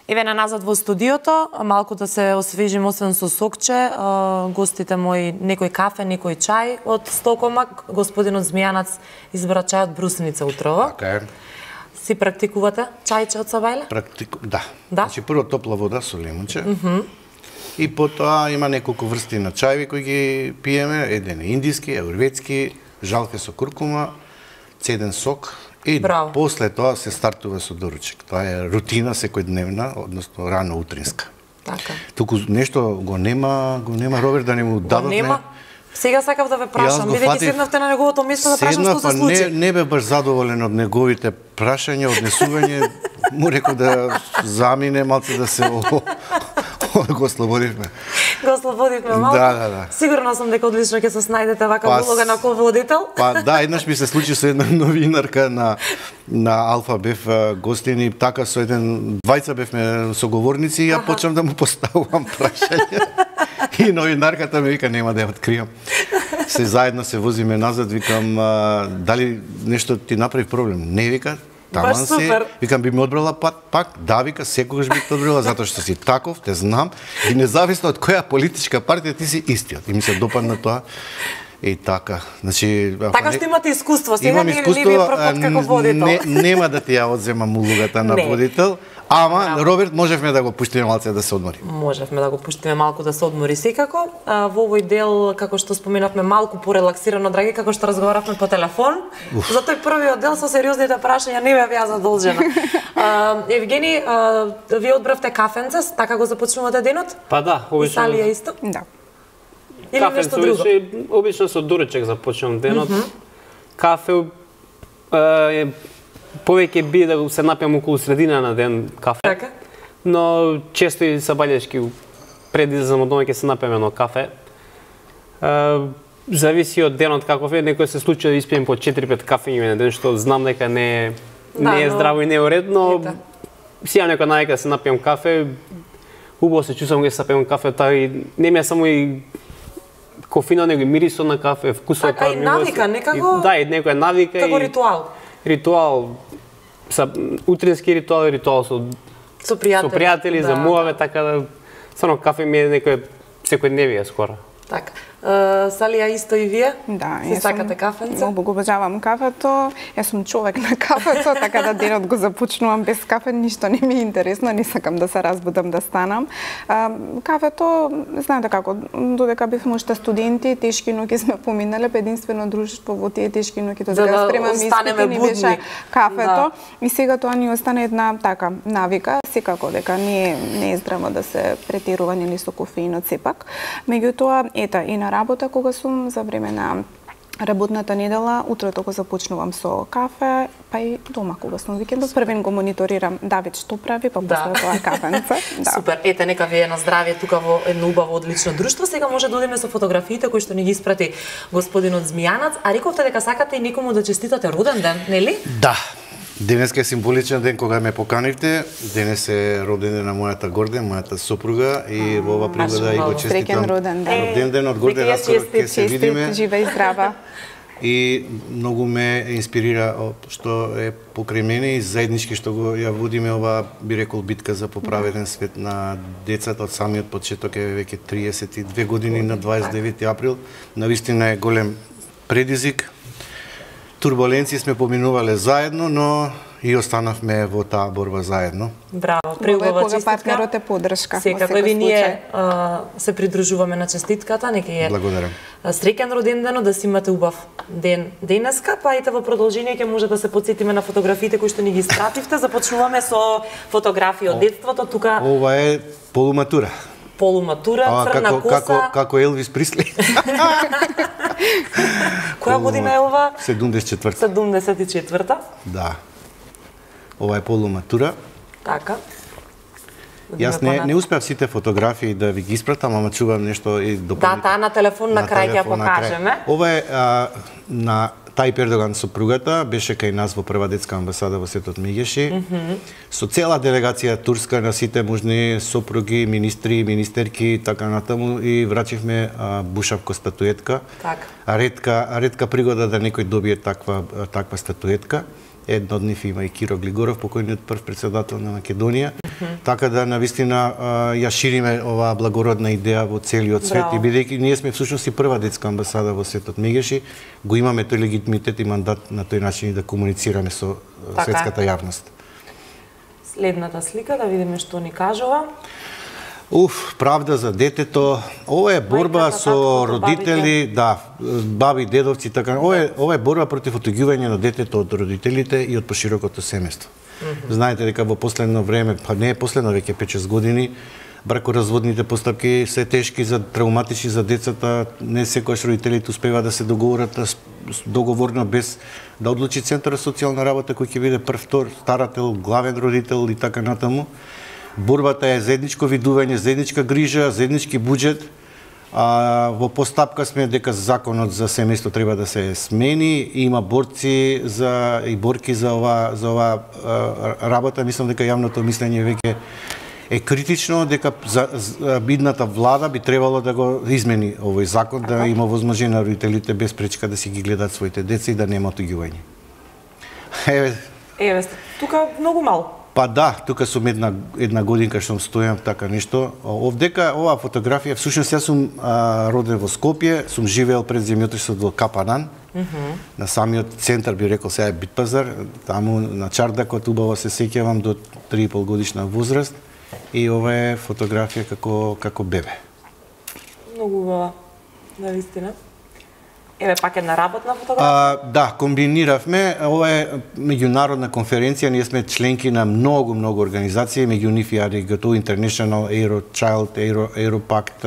Еве на назад во студиото, малку да се освежим освен со сокче, гостите мои некој кафе, некој чај од Стокомак, господинот Змијанац избра чај од брусеница утрово. Така е. Си практикувате чајче од Сабајле? Да. Значи прво топла вода со лимонче. И потоа има неколку врсти на чајви кои ги пиеме, еден е индиски, аюрведски, жалфе со куркума, цеден сок. И после тоа се стартува со доручек. Тоа е рутина секојдневна, односно рано утринска. Така. Туку нешто го нема Роберт да не му дадовме. Нема. Сега сакав да ве прашам, бидејќи седнавте на неговото место да прашам што се случи. Не бе баш задоволен од неговите прашања, однесување. Му реков да замине малку да се го ослободивме. Го ослободивме малку? Да. Сигурно сум дека одлично ќе се снајдете вака улога на ководител. Да, еднаш ми се случи со една новинарка на Алфа бев гостини, така со двајца бевме соговорници и ја почнам да му поставувам прашања. И новинарката ми вика, нема да ја откријам. Се заедно се возиме назад, викам, дали нешто ти направи проблем? Не, вика, таман се. Викам, би ми одбрала пак? Да, вика, секогаш би те одбрала, затоа што си таков, те знам. И независно од која политичка партија ти си истиот. И ми се допадна тоа. И така. Значи, така што имате искуство, сега не ви е прв пат како водител. Нема да ти ја одземам улогата на водител. Ама, Роберт, можевме да го пуштиме малце да се одмори. Можевме да го пуштиме малку да се одмори секако. Во овој дел, како што споменавме, малку порелаксирано, драги, како што разговаравме по телефон. За тој првиот дел со сериозните прашања не бев ја задолжена. Евгени, вие одбравте кафенце, така го започнувате денот? Па да, обично. И Салија исто? Да. Или нешто друго? Обично со дуречек започнувам денот. Кафе повеќе би да се напијам околу средина на ден кафе. Така? Но често и сабајлешки пред излезам од дома ќе се напијам едно кафе. Зависи од денот каков е, некој се случува да испијам по 4-5 кафења на ден, што знам дека не е здраво и не е уред, но си имам некоја навика да се напијам кафе. Убаво се чувствам кога се напијам кафе, и не ми е само и кофина, него и мирисот на кафе, вкусот. Така и навика, некако? Да, и некоја навика. Како ритуал? Ритуал, утрински ритуал со пријатели, за муаве, така да само кафе ми е некој секојдневие скоро. Така. Салија, исто и вие? Да, се сакате кафенце? Многу го обожавам кафето. Јас сум човек на кафето, така да денот го започнувам без кафе, ништо не ми е интересно, не сакам да се разбудам да станам. Кафето, знаете како, додека бевме уште студенти, тешки ноќи сме поминале, единствено друштво во тие тешки ноќи, додека да спремаме испити, ни беше кафето. И сега тоа ни остана една така навика, секако дека не е здраво да се претерува нели со кофеинот сепак. Меѓутоа, и на работа кога сум за време на работната недела, утрото го започнувам со кафе, па и дома кога сум викендот, првен го мониторирам Давид што прави, па после тоа кафенце. Супер, ете нека ви е на здравје тука во едно убаво одлично друштво. Сега може да одиме со фотографиите кои што ни ги испрати господинот Змијанац, а рековте дека сакате и некому да честитате роден ден, нели? Да. Денеска е символичен ден кога ме поканивте. Денес е роден ден на мојата Горден, мојата сопруга, и во ова пригода и го честитам роден ден. Роден ден од Горден, ќе се видиме. Жива и здрава. И многу ме инспирира што е покрај мене и заеднички што го ја водиме ова, би рекол, битка за поправеден свет на децата од самиот почеток, е веќе 32 години на 29 април. Навистина е голем предизвик. Турбуленции сме поминувале заедно, но и останавме во таа борба заедно. Браво, преубава честитка. Кога партнерот е поддршка. Секако и ние се придружуваме на честитката, нека е. Благодарам. Среќен роден ден, да си имате убав ден денеска, па ете во продолжение ќе може да се потсетиме на фотографиите кои што ни ги испративте. Започнуваме со фотографии од детството тука. Ова е полуматура. Црна коса. Како Елвис Присли. Која година е ова? 74-та. 74-та? Да. Ова е полуматура. Така. Јас не успеав сите фотографии да ви ги испратам, ама чувам нешто и дополнително. Да, таа на телефон на крај ќе ја покажеме. Ова е на Тајип Ердоган сопругата, беше кај нас во прва детска амбасада во Светот Мегеши. Со цела делегација турска на сите можни сопруги, министри, министерки, така натаму, и врачивме бушавко статуетка. Така. Ретка пригода да некој добие таква статуетка. Едно од нив има и Киро Глигоров, покојниот прв председател на Македонија. Така да навистина ја шириме оваа благородна идеја во целиот свет и бидејќи ние сме всушност и прва детска амбасада во светот Мегеши, го имаме тој легитимитет и мандат на тој начин да комуницираме со светската јавност. Следната слика да видиме што ни кажува. Правда за детето. Ова е борба со родители, да, баби, дедовци, така. Ова е борба против отуѓување на детето од родителите и од поширокото семејство. Знаете дека во последно време, па не е последно, веќе 5-6 години, бракоразводните постапки се тешки, травматични за децата. Не секогаш родителите успева да се договорат договорно без да одлучи Центарот за социјална работа кој ќе биде прв, втор, старател, главен родител и така натаму. Борбата е заедничко видување, заедничка грижа, заеднички буџет. Во постапка сме дека законот за семејство треба да се смени. Има борци и борки за ова работа. Мислам дека јавното мислење веќе е критично, дека бидната влада би требало да го измени овој закон, да има возможност на родителите без пречка да си ги гледат своите деца и да нема отуѓување. Еве, тука многу мал. Па да, тука сум една годинка што стојам така нешто. Овдека оваа фотографија, всушност јас сум роден во Скопје, сум живеел пред земјотресот во Капанан. На самиот центар би рекол сега е Битпазар, таму на чардакот убаво се сеќавам до 3,5 годишна возраст и ова е фотографија како бебе. Многу убава, навистина. Еве пак една работна фотографија? Да, комбиниравме. Ова е меѓународна конференција, ние сме членки на многу организации, меѓу нив и ARIGATO International, Eurochild, Europact,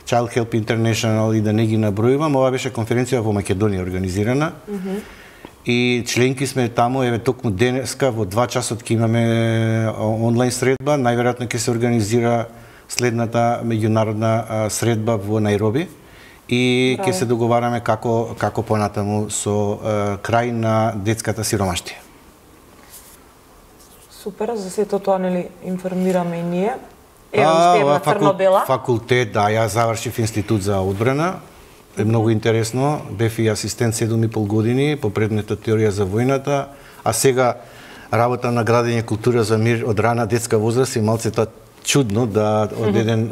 Child Help International и да не ги набројувам. Ова беше конференција во Македонија организирана. И членки сме таму, еве токму денеска во 2 часот ќе имаме онлайн средба, најверојатно ќе се организира следната меѓународна средба во Најроби. И ќе се договараме како понатаму со крај на детската сиромаштија. Супер, за сето тоа нели информираме и ние. Ева уште една црно-бела. Факултет, да, јас завршив институт за одбрана. Е многу интересно. Бев и асистент 7,5 години по предметот теорија за војната, а сега работа на градење култура за мир од рана детска возраст и малцето чудно да од еден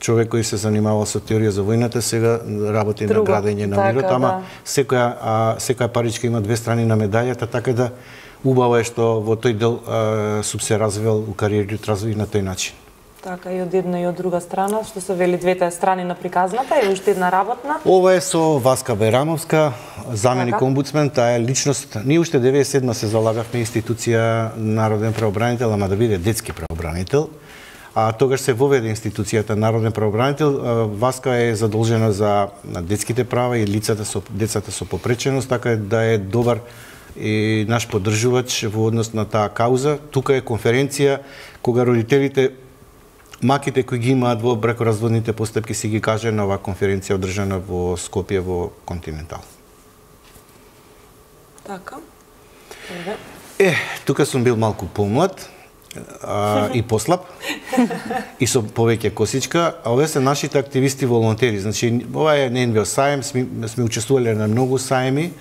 човек кој се занимавал со теорија за војната, сега работи на градење на мирот, ама секоја паричка има две страни на медаљата, така да убаво е што во тој дел сум се развил у кариерниот развој на тој начин. Така, и од една и од друга страна, што се вели двете страни на приказната, и уште една работна. Ова е со Васка Байрамовска, заменик омбудсмен, таа е личност. Ние уште 97 се залагавме институција народен правобранител, ама да биде детски правобранител. А тогаш се воведе институцијата народен правобранител. Васка е задолжена за детските права и децата со попреченост, така да е добар и наш поддржувач во однос на таа кауза. Тука е конференција кога родителите маките кои ги имаат во бракоразводните постапки си ги каже на оваа конференција одржана во Скопје во Континентал. Така. Тука сум бил малку помлад и послаб и со повеќе косичка, а овие се нашите активисти волонтери. Значи, ова е НВО саем, сме учествувале на многу саеми.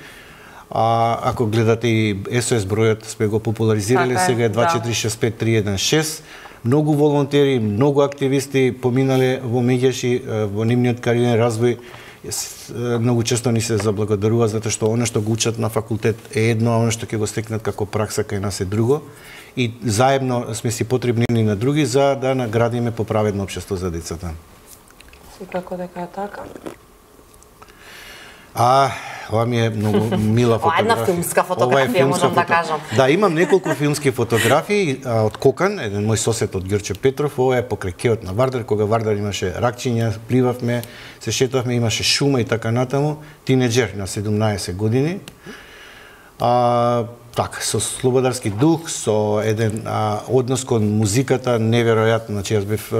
Ако гледате и СОС бројот, сме го популаризирале, сега е 2465316. Многу волонтери, многу активисти поминале во Мегеши, во нивниот кариерен развој. Многу често ни се заблагодарува затоа што она што го учат на факултет е едно, а она што ќе го стекнат како пракса кај нас е друго. И заедно сме си потребни едни на други за да наградиме поправедно општество за децата. Секако дека е така. Ова ми е многу мила фотографија. Една филмска фотографија, можам да кажам. Да, имам неколку филмски фотографии од Кокан, еден мој сосед од Ѓорче Петров. Ова е покрај кеот на Вардар, кога Вардар имаше ракчиња, пливавме, се шетавме, имаше шума и така натаму. Тинеџер на 17 години. Така, со слободарски дух, со еден однос кон музиката неверојатно. Значи, јас бев,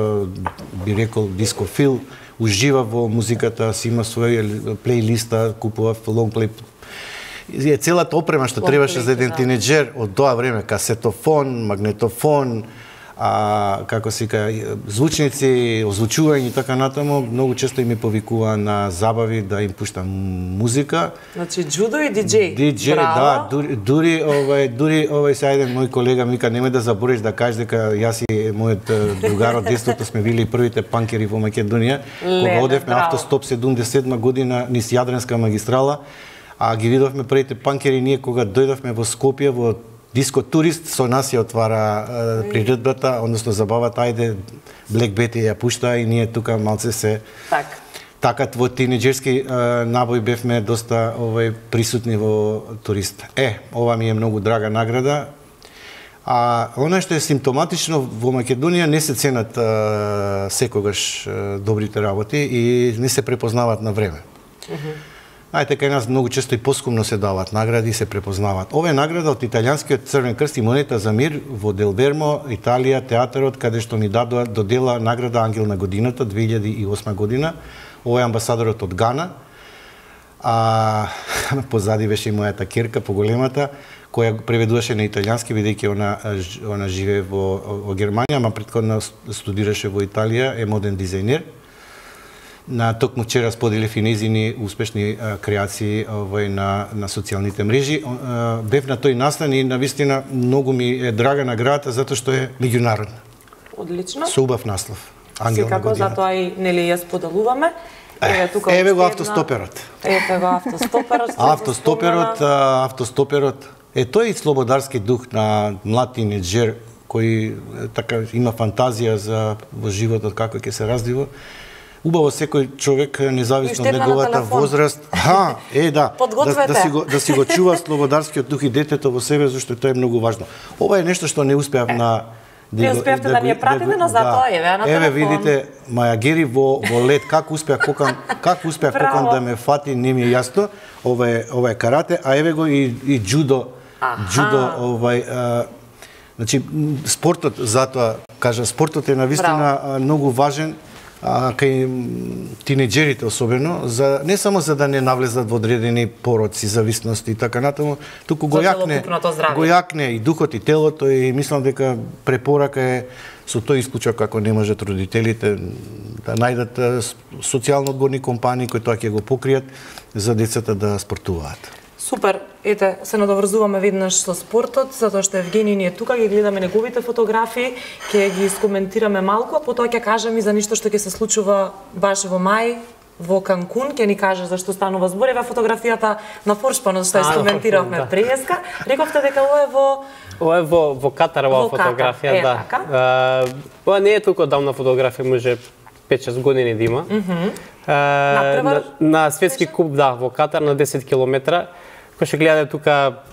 би рекол, дискофил, уживав во музиката, си има своја плейлиста, купував лонгплей. Целата опрема што требаше за еден тинеџер од тоа време, касетофон, магнетофон, како се вика, звучници, озвучување и така натаму, многу често им повикува на забави да им пуштам музика. Значи джудо и диџеј. Диџеј, да, дури сега еден мој колега ми вика немој да забориш да кажеш дека јас и мојот другар од детството сме били првите панкери во Македонија, кога одевме автостоп 77 година низ Јадренска магистрала, а ги видовме првите панкери ние кога дојдовме во Скопје во Диско Турист, со нас ја отвара приредбата, односно забавата, ајде Black Betty ја пушта и ние тука малце се така во тинеџерски набој бевме доста присутни во Турист. Ова ми е многу драга награда. А она што е симптоматично во Македонија не се ценат секогаш добрите работи и не се препознаваат на време. Ајде, кај нас многу често и поскумно се даваат награди и се препознаваат. Ова е награда од Италијанскиот Црвен крст и монета за мир во Дел Вермо, Италија, театарот, каде што ми додела награда Ангел на годината 2008 година. Ова е амбасадорот од Гана. Позади беше и мојата керка, поголемата, која преведуваше на италијански, бидејќи она живее во Германија, ама претходно студираше во Италија, е моден дизајнер. На токму вчера споделив и нејзини успешни креации на социјалните мрежи. Бев на тој настан и навистина многу ми е драга наградата затоа што е меѓународна. Одлично. Со убав наслов. Ангел на годината. Секако, затоа и нели ја споделуваме. Еве го автостоперот. Еве го автостоперот. Автостоперот. Тој е слободарски дух на млад тинеџер кој така има фантазија за во животот како ќе се развива. Убаво секој човек, независно од неговата возраст, да си го чува слободарскиот дух и детето во себе, зашто тоа е многу важно. Ова е нешто што не успеав на Не успеавте да ни ја пратите, но затоа еве на телефон. Еве видите, мајагери во лед, како успеав покан да ме фати, не ми е јасно. Ова е карате, а еве го и џудо. Џудо, значи спортот, затоа кажа, спортот е навистина многу важен кај тинеџерите особено, не само за да не навлезат во одредени пороци, зависности и така натаму, туку го јакне и духот и телото и мислам дека препорака е со тој исклучок како не можат родителите да најдат социјално одговорни компании кои тоа ќе го покријат за децата да спортуваат. Супер, ете, се надоврзуваме веднаш со спортот, затоа што Евгений ни е тука, ги гледаме неговите фотографии, ќе ги искоментираме малку, а потоа ќе кажем и за нешто што ќе се случува баш во мај, во Канкун, ќе ни каже зашто станува збор. Еве фотографијата на Форшпанот што искоментиравме преска. Рековте дека ова е во Катар, ова фотографија, да. Ова не е толку давна фотографија, може 5-6 години да има. На светски куп, да, во Катар на 10 километра. Кој ќе гледа тука,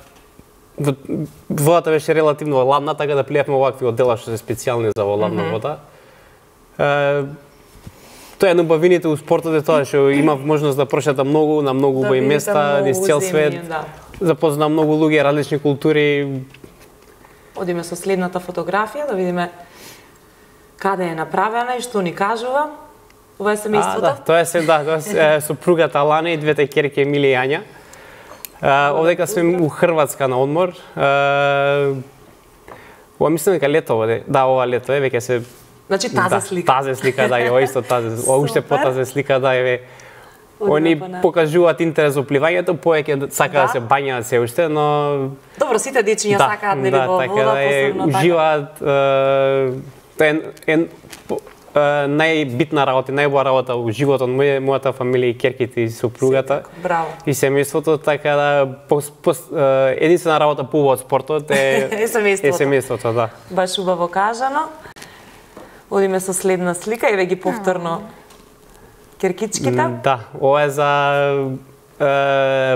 водата беше релативно ладна, така да плиевме овакви одела што се специјални за ладна вода. Тоа е на убавините у спортот е тоа што има можност да прошета многу на многу убави места низ цел свет. Запозна многу луѓе, различни култури. Одиме со следната фотографија да видиме каде е направена и што ни кажува. Ова е семејството? Тоа е сопругата Алана и двете ќерки Емилија и Ања. Овдека сме у Хрватска на одмор. Ова мислам дека лето оде. Да, ова лето е, веќе се... Значи тази слика. Тази слика, да, ова исто тази. Ова уште потазе слика, да, еве. Они покажуваат интерес во пливањето, повеќе сака да се бањаат се уште, но... Добро, сите дечиња сакаат нели во вода, посебно така. Уживаат, најбитна работа, најбоја работа во животот мојата фамилија и ќерките и сопругата и семејството, така да единствена работа поубава од спортот е семејството, да. Баш убаво кажано. Одиме со следна слика, еве ги повторно ќеркичките. Да, ова е за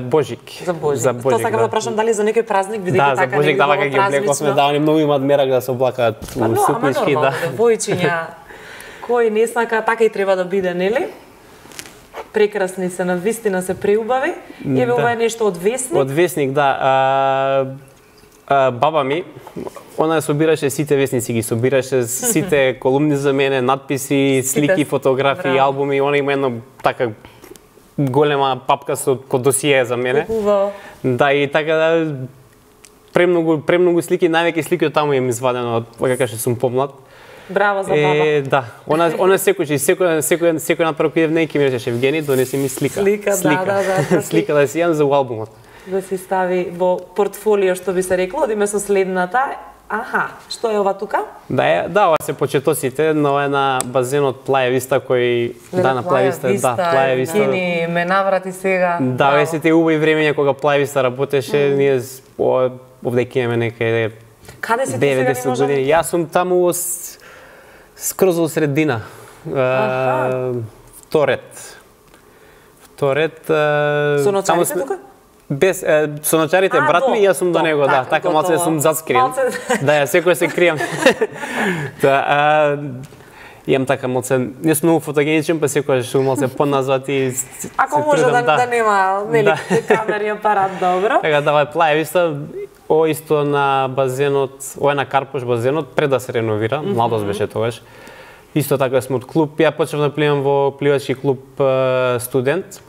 Божик. За Божик. Тоа сакам да прашам дали за некој празник бидејќи така за Божик дава ги облековме, да, они многу имаат мерак да се облакаат сукнички, да. Девојчиња кој не сака, така и треба да биде, нели? Прекрасни се, навистина се преубави. Еве ова е нешто од весник. Од весник, да. Баба ми, она собираше сите весници, ги собираше сите колумни за мене, надписи, слики, фотографии, албуми. Она има едно така голема папка со досие за мене. Убаво. Да, и така да премногу слики, највеќе слики од таму им извадено од кога што сум помлад. Браво за баба. Да, она секој напред кој не ќе ми речеше Евгени, донеси ми слика. Да. Слика да си јам за албумот. Да си стави во портфолио, што би се рекло, одиме со следната. Аха, што е ова тука? Да, ова се почетосите, но е на базенот Плаја Виста кој на Плаја Виста. Кини ме наврати сега. Да, ве се те убави времења кога Плаја Виста работеше, ние овде ќе имаме некаде Каде си ти сега не можам? Јас сум таму скроз во средина. Вторет. Со ночарите тука? Без со ночарите брат ми и јас сум до него, да, така малце сум заскриен. Да, ја секој се крием. Имам така малце, не сум многу фотогеничен, па секојаш сум малце поназад и ако може да нема нели камери апарат, добро. Така да, Плаја Виста, ова исто на базенот, ова е на Карпош базенот пред да се реновира, младост беше тогаш. Исто така сме од клуб, ја почнав да пливам во пливачки клуб Студент.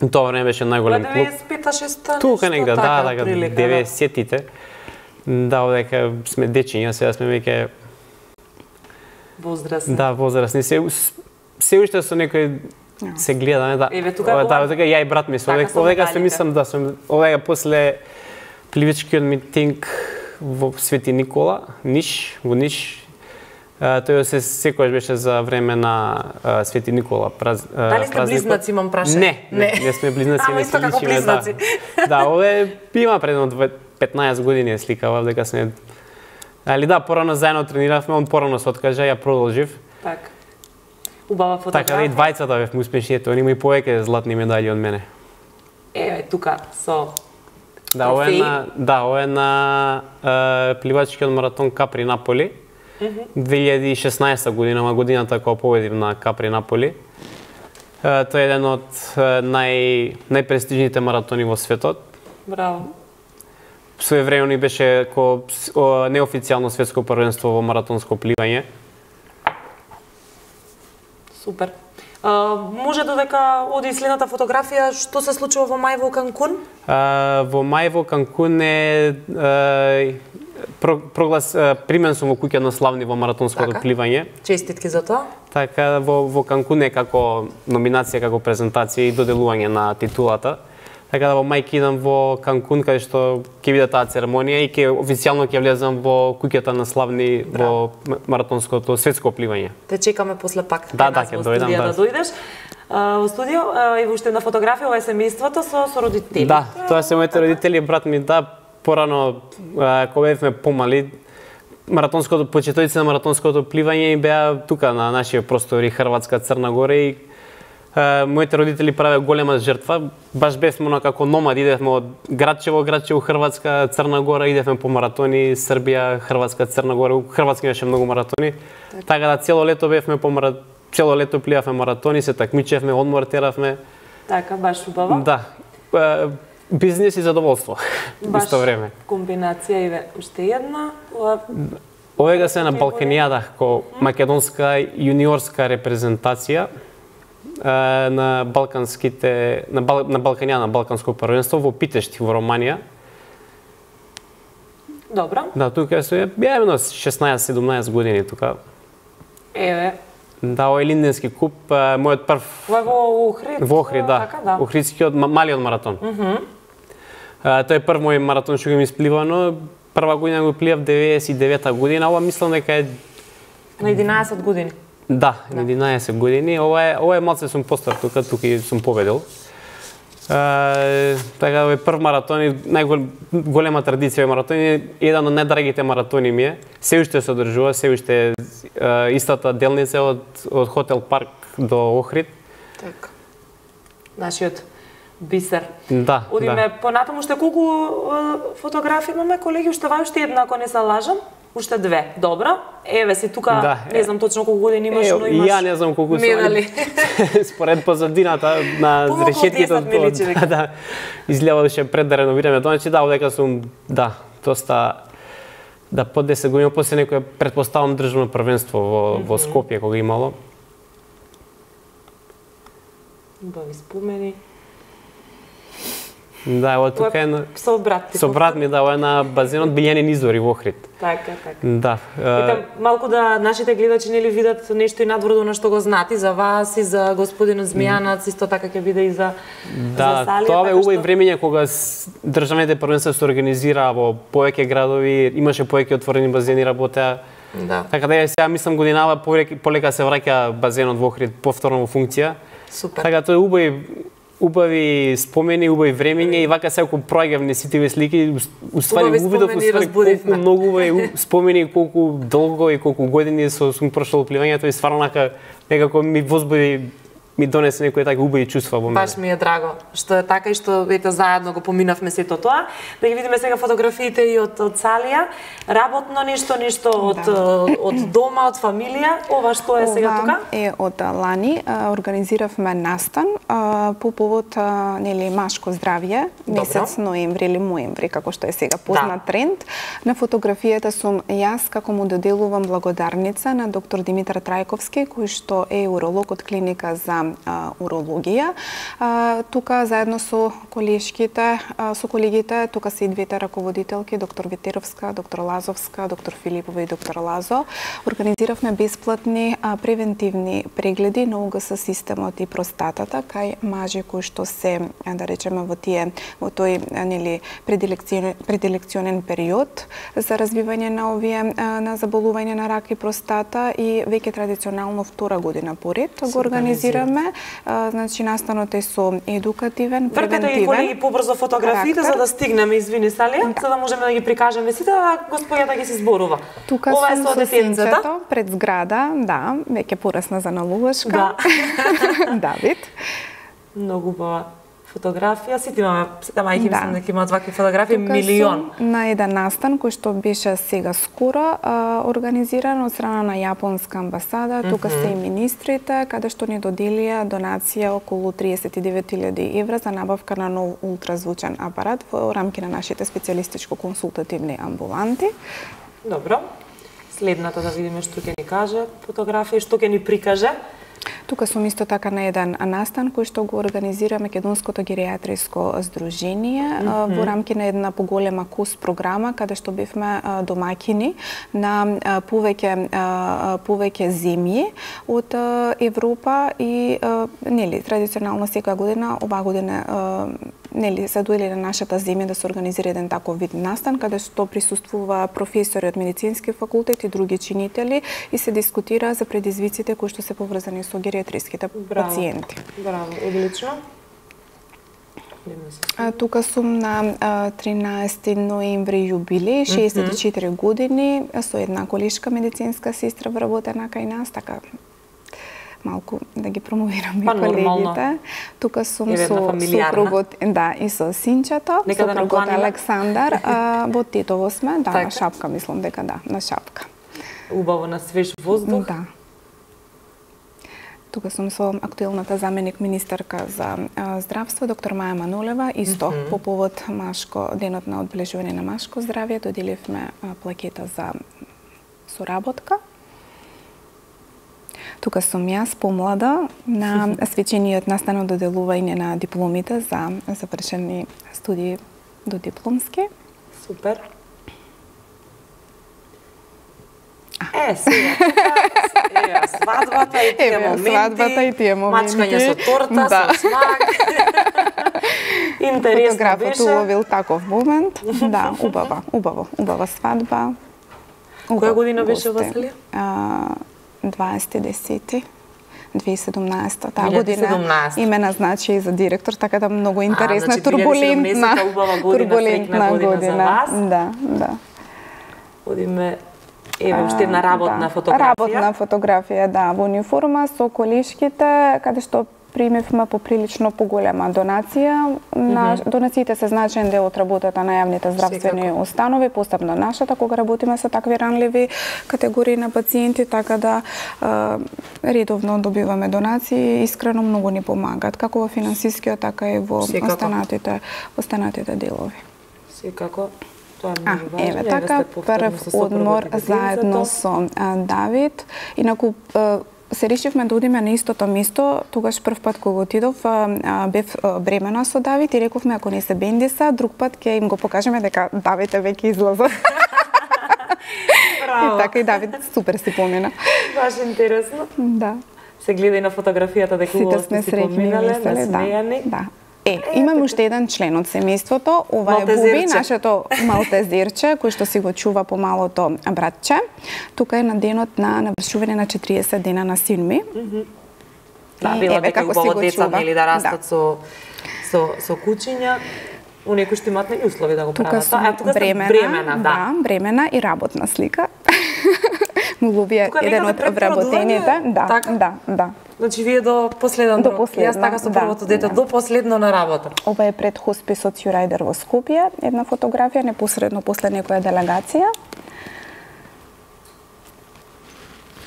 Тоа време беше најголем клуб. 95-6 тука негде, да, 90-тите. Да, одека сме дечиња, сега сме веќе возрастни. Да, возрастни. Се уште со некој се гледаме, да. Еве тука ја и брат ми се одека се мислам да сум одека после пливачкиот митинг во Свети Никола, во Ниш. Тој секојаш беше за време на Свети Никола. Дали сте близнаци, имам прашање? Не сме близнаци, не се личиме. Да, ове има предно 15 години сликава, дека сме. Али да, порано заедно трениравме, он порано се откажа, ја продолжив. Така. Убава фотографија. Така, и двајцата бевме успешните, он има и повеќе златни медали од мене. Еве, тука со ова е на пливачкиот маратон Капри Наполи. 2016 година, годината кога победив на Капри Наполи. Тој е еден од најпрестижните маратони во светот. Браво. Своевремено беше неофицијално светско првенство во маратонско пливање. Супер. Може додека оди следната фотографија, што се случува во мај во Канкун? Во мај во Канкун е примен сум во куќа на славни во маратонското пливање. Честитки за тоа. Така, во Канкун е како номинација, како презентација и доделување на титулата. Така да во мај ќе идам во Канкун, каде што ќе биде таа церемонија и официјално ќе влезам во куќата на славни во маратонското светско пливање. Те чекаме после пак. Да, ќе дојдам, да дојдеш. Во студио и уште една фотографија, ова е семејството со родители. Да, тоа се моите родители, брат ми, да, порано кога бевме помали, почетоците на маратонското пливање беа тука на нашите простори Хрватска, Црна Гора и моите родители правеа голема жртва. Баш бевме како номади, идевме од градче во Хрватска, Црна Гора, идевме по маратони, Србија, Хрватска, Црна Гора. У Хрватска имаше многу маратони. Така да цело лето бевме цело лето пливавме маратони, се такмичевме, одмор теравме. Така, баш убаво. Да. Бизнес и задоволство. Исто време. Комбинација и уште една. Овега се на Балканијада, ко македонска јуниорска репрезентација на Балканијада, на Балканско првенство во Питешти во Романија. Добро. Да, тука се беа 16-17 години тука. Еве. Да, ова е Линденски куп, мојот прв... Во Охрид? Во Охрид, да. Охридскиот малиот маратон. Тој е прв мој маратон што го ми испливано. Прва година го пливав 99-та година, ова мислам дека е... На 11 години? Да, на 11 години. Ова е малце сум постар тука и сум победил. Така, ова е прв маратон и најголема традиција во маратони, еден од најдрагите маратони ми е. Се уште се одржува, се уште истата делница од Хотел Парк до Охрид. Така. Нашиот бисер. Да. Одиме понатаму, уште колку фотографии имаме, колеги? Уште една, ако не се лажам. Уште две. Добро. Еве си тука, не знам точно колку години имаш, но имаш. Ја не знам колку медали. Според позадината на решетките да изгледаше пред да реновираме тоа, значи да, одека сум доста под 10 години, после некој претпоставам државно првенство во Скопје кога имало. Убави спомени. Да, ево тука е со брат. Со брат ми да на базенот Билјанин извори во Охрид. Така. Да. Малку да нашите гледачи нели видат нешто и надвор на што го знаат и за вас и за господинот Змијанац, исто така ќе биде и за Салија. Тоа е убави времење кога државните првенства се организира во повеќе градови, имаше повеќе отворени базени работеа. Да. Така да сега мислам годинава полека се враќа базенот во Охрид повторно во функција. Супер. Така тоа е убави спомени, убави времења и вака секако проаѓавме сите овие слики, уствари увидов колку многу убави спомени, колку долго и колку години сум прошло пливањето и стварно некако ми возбуди, ми донесе некои такви убави чувства во мене. Баш ми е драго што е така и што ете заедно го поминавме сето тоа. Да ги видиме сега фотографиите и од Салија. Работно нешто од дома, од фамилија. Ова што е сега тука? Е од лани организиравме настан по повод нели машко здравје, месец ноември или моември, како што е сега познат тренд. На фотографијата сум јас како му доделувам благодарница на доктор Димитар Трајковски, кој што е уролог од клиника за урологија. Тука заедно со колегите, тука се и двете раководителки, доктор Ветеровска, доктор Лазовска, доктор Филипова и доктор Лазо, организиравме бесплатни превентивни прегледи на УГС системот и простатата кај мажи кои што се, да речеме, во тој нели пределекционен период за развивање на овие на заболување на рак и простата и веќе традиционално втора година поред го организираме. Значи настанот е со едукативен, превентивен. Вркате ги колеги побрзо фотографиите за да стигнеме, извини Салија, за да можеме да ги прикажеме сите, а господјата ги се зборува. Тука ова е со детенцето пред зграда, да, веќе порасна за налувашка. Да. Давид. Многу убава фотографија, сите имаме, сите мајки мислам дека имаат вакви фотографии, милион. На еден настан кој што беше сега скоро организиран од страна на Јапонска амбасада, тука се и министрите, каде што ни доделија донација околу 39.000 евра за набавка на нов ултразвучен апарат во рамки на нашите специјалистичко-консултативни амбуланти. Добро. Следната да видиме што ќе ни каже фотографија и што ќе ни прикаже. Тука сум исто така на еден настан кој што го организира Македонското геријатриско здружение во рамки на една поголема КУС програма каде што бевме домаќини на повеќе земји од Европа и нели традиционално секоја година, оваа година нели се дојде на нашата земја да се организира еден таков вид настан каде што присуствува професори од медицински факултет и други чинители и се дискутира за предизвиците кои што се поврзани со гериатриските пациенти. Браво, одлично. Тука сум на 13 ноември јубилеј, 64 години, со една колешка медицинска сестра вработена кај нас, така малку да ги промовирам и колегите. Тука сум со супругот, да, и со синчето, супругот Александар, во Титово сме, да, на Шапка, мислам дека да, на Шапка. Убаво на свеж воздух. Да. Тука сум со актуелната заменик министерка за здравство, доктор Маја Манолева, исто по повод денот на одбележување на машко здравје, доделивме плакета за соработка. Тука сум јас помлада на свечениот настан од доделување на дипломите за завршени студии до дипломски. Супер. Сега, свадбата и тие моменти, мачкање со торта, со смак. Интересно фотографот беше. уловил таков момент. Да, убава свадба. Која година беше Василија? 2017, таа година и ме назначи и за директор, така да многу интересна, турбулентна година. Да. Одиме еве уште една работна фотографија. Работна фотографија, да, во униформа со колешките, каде што примевме поприлично поголема донација. Донациите се значаен дел од работата на јавните здравствени установи, посебно нашата, кога работиме со такви ранливи категории на пациенти, така да редовно добиваме донации, искрено многу ни помагаат, како во финансискиот, така и во останатите делови. Секако. Тоа е многу важно. Еве така, прв одмор заедно со Давид. Инаку, се решивме да одиме на истото место, тогаш прв пат кога отидов, бев бремена со Давид и рековме ако не се бендиса, друг пат ќе им го покажеме дека Давид е веќе излаза. Браво. И така и Давид супер си помина. Баш интересно. Да. Се гледа и на фотографијата дека сите сме среќни, весели, да. Имаме уште еден член од семејството, ова е Буби, нашето малтезирче, кој што си го чува помалото братче. Тука е на денот на навршување на 40 дена на син ми. Да, било дека убаво деца нели да растат со кучиња. Оние кои што имаат нели услови да го прават. Тука бремена, да, бремена и работна слика. Молуби еден од вработените, да. Значи вие до последен рок. Јас така со првото дете до последно на работа. Ова е пред хосписот Јурајдер во Скопје, една фотографија непосредно после некоја делегација.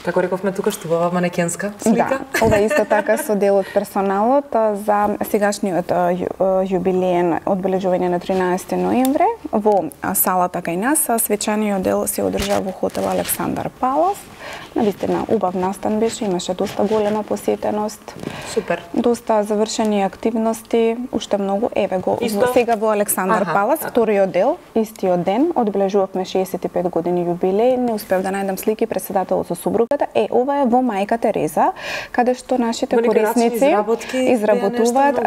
Како рековме тука што бава манекенска слика. Да, ова исто така со дел од персоналот за сегашниот јубилеен одбележување на 13 ноември во салата кај нас. Свечаниот дел се одржа во хотел Александар Палас. Навистина убав настан беше, имаше доста голема посетеност. Супер. Доста завршени активности, уште многу. Еве го сега во Александар Палас, вториот дел, истиот ден, одбележувавме 65 години јубилеј. Не успев да најдам слики председателот со супругата. Ова е во Мајка Тереза, каде што нашите корисници изработуваат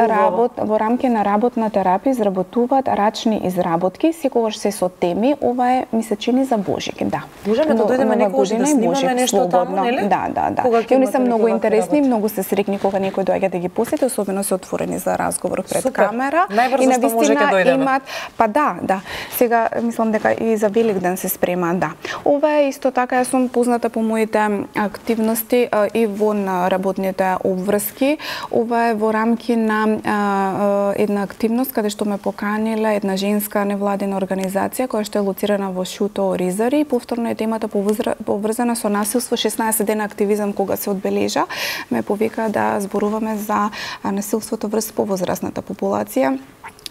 во рамки на работна терапија, изработуваат рачни изработки, секогаш се со теми. Ова е ми се чини за Божик, да. Можеме да дојдеме некогаш да снимаме нешто таму, нели? Да. И они се многу интересни, многу се срекни кога некој доаѓа да ги посети, особено се отворени за разговор пред камера. И на вистина имаат, па да. Сега мислам дека и за Великден се спрема, да. Ова е исто така, јас сум позната по моите активности и во работните обврски. Ова е во рамки на една активност каде што ме поканила една женска невладина организација која што е лоцирана во Шуто Оризари. Повторно е темата поврзана со насилство, 16 дена активизам кога се одбележа. Ме повика да зборуваме за насилството врз повозрасната популација.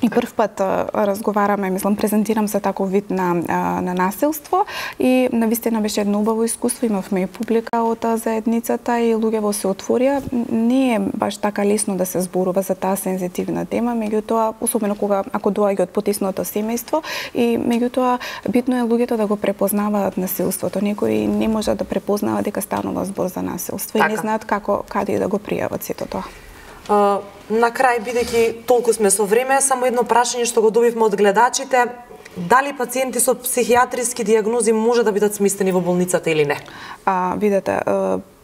И прв пат разговараме, мислам, презентирам за таков вид на насилство и навистина беше едно убаво искуство, имавме и публика од заедницата и луѓето се отворија. Не е баш така лесно да се зборува за таа сензитивна тема, меѓутоа, особено ако доаѓа од потисното семејство и меѓутоа битно е луѓето да го препознаваат насилството. Некои не можат да препознаваат дека станува збор за насилство и не знаат каде да го пријават сето тоа. На крај, бидејќи толку сме со време, само едно прашање што го добивме од гледачите. Дали пациенти со психијатриски дијагнози може да бидат сместени во болницата или не? Видете,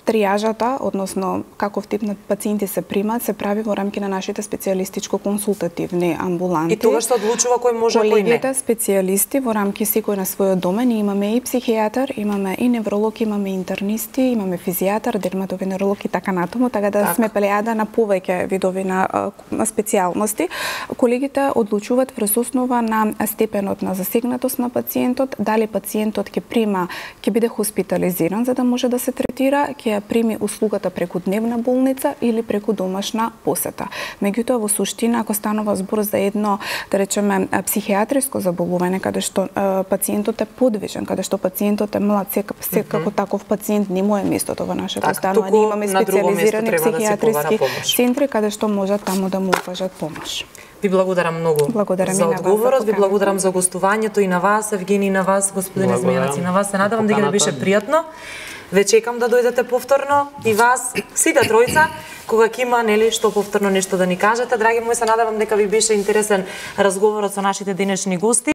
тријажата, односно каков тип на пациенти се примаат, се прави во рамки на нашите специјалистичко-консултативни амбуланти. И тогаш се одлучува кој може, кој не. Колегите специјалисти во рамки секој на својот домен, имаме и психијатар, имаме и невролог, имаме интернисти, имаме физијатар, дерматовенеролог и така натаму, така да сме плејада на повеќе видови на специјалности. Колегите одлучуваат врз основа на степенот на засегнатост на пациентот, дали пациентот ќе биде хоспитализиран за да може да се третира, ќе прими услугата преку дневна болница или преку домашна посета. Меѓутоа, во суштина, ако станува збор за едно, да речеме, психијатриско заболување, каде што пациентот е подвижен, каде што пациентот е млад, секако таков пациент не му е местото во нашето станување. Имаме специјализирани психијатриски центри, каде што можат таму да му укажат помош. Ви благодарам многу за одговорот, ви благодарам за гостувањето и на вас, Евгени, и на вас, господине Змејанац, и на вас. Се надевам дека ви беше пријатно. Ве чекам да дојдете повторно и вас, сите тројца, кога ќе има нели што повторно нешто да ни кажете. Драги мои, се надевам дека ви беше интересен разговорот со нашите денешни гости.